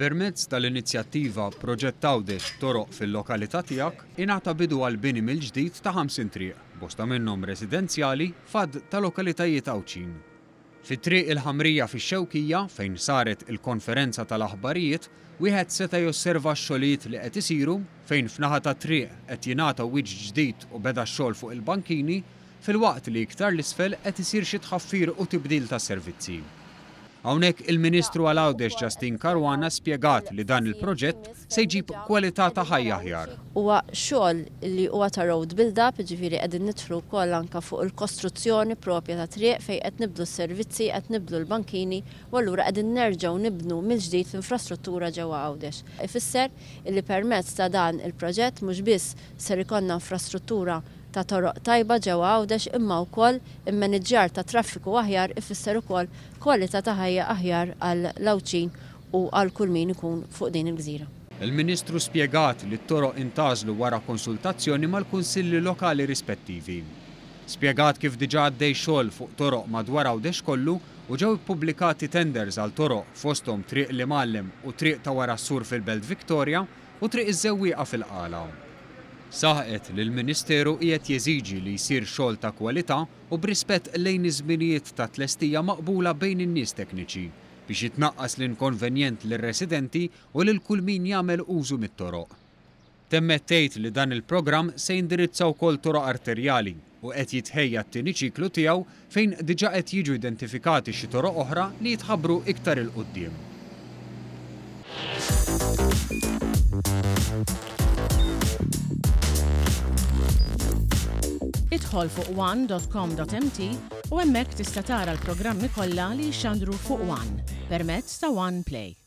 Permezz tal-inizjattiva Proġett Għawdex Toroq fil-Lokalità Tiegħek, ingħata bidu għall-bini mill-ġdid ta' 50 triq, bosta minnhom residenzjali, f'għadd ta' lokalitajiet Għawdxin. Fi Triq il-Ħamrija fix-Xewkija, fejn saret il-konferenza tal-aħbarijiet, wieħed seta' josserva x-xogħlijiet li qed isiru, fejn f'naħa tat-triq qed jingħata wiċċ ġdid u beda x-xogħol fuq il-bankini, filwaqt li iktar 'l isfel qed isir xi tħaffir u tibdil ta' servizzi. Hawnhekk il-Ministru għal Għawdex Justyne Caruana spjegat li dan il-proġett se jġib kwalità ta' ħajja aħjar. Huwa xogħol li huwa ta' road build up, jiġifieri qegħdin nidħlu wkoll anke fuq il-kostruzzjoni propja ta' triq fejn qed nibdlu s-servizzi, qed nibdlu l-bankini u allura qegħdin nerġgħu nibnu mill-ġdid l-infrastruttura ġewwa Għawdex. Ifisser illi permezz ta' dan il-proġett mhux biss ser ikollna infrastruttura ta' toroq tajba ġewwa Għawdex imma wkoll immaniġġjar ta' traffiku aħjar ifisser ukoll kwalità ta' ħajja aħjar għall-Għawdxin u għal kull min ikun fuq din il-gżira. Il-Ministru spjegat li t-toroq intgħażlu wara konsultazzjoni mal-Kunsilli Lokali rispettivi. Spjegat kif diġà għaddej xogħol fuq toroq madwar Għawdex kollu u ġew ippubblikati tenders għal toroq fosthom Triq l-Imgħallem u Triq ta' Wara s-Sur fil-Belt Victoria u Triq iż-Żewwieqa fil-Qala. Saħqet li l-Ministeru qiegħed jeżiġi li jsir xogħol ta' kwalità u b'rispett lejn iż-żminijiet ta' tlestija maqbula bejn in-nies tekniċi, biex jitnaqqas l-inkonvenjent lir-residenti u lil kull min jagħmel użu mit-toroq. Temmet tgħid li dan il-programm se jindirizza wkoll toroq arterjali u qed jitħejja t-tieni ċiklu tiegħu fejn diġà qed jiġu identifikati xi toroq oħra li jitħabbru iktar 'il quddiem. Idħol fuq one.com.mt u hemmhekk tista' tara l-programmi kollha li jixxandru fuq One permezz ta' One Play.